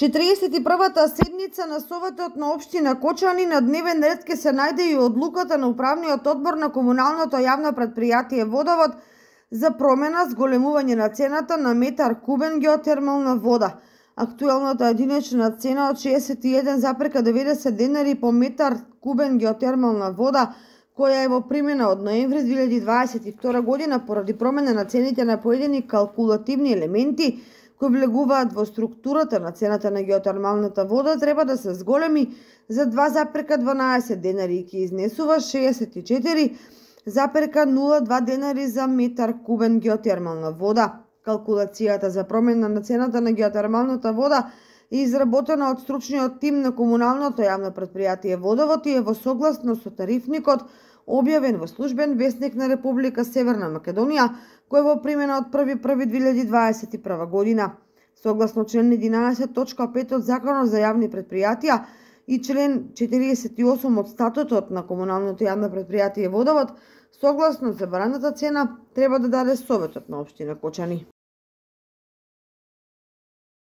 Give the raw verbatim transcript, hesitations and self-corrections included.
четириесет и првата седница на Советот на општина Кочани на дневен ред ќе се најде и одлуката на управниот одбор на комуналното јавно предпријатие Водовод за промена зголемување на цената на метар кубен геотермална вода. Актуелната единична цена од шеесет и еден зарез деветдесет денари по метар кубен геотермална вода, која е во примена од ноември две илјади дваесет и втора година поради промена на цените на поедини калкулативни елементи кои влегуваат во структурата на цената на геотермалната вода, треба да се зголеми за два зарез дванаесет денари и ќе изнесува шеесет и четири зарез нула два денари за метар кубен геотермална вода. Калкулацијата за промена на цената на геотермалната вода е изработена од стручниот тим на комуналното јавно предпријатие Водовод и е во согласно со тарифникот објавен во службен весник на Република Северна Македонија, кој е во примена од први први две илјади дваесет и прва година. Согласно член единаесет точка пет од Законот за јавни предпријатија и член четириесет и осум од статутот на комуналното јавно предпријатие Водовод, согласно забраната цена треба да даде Советот на општина Кочани.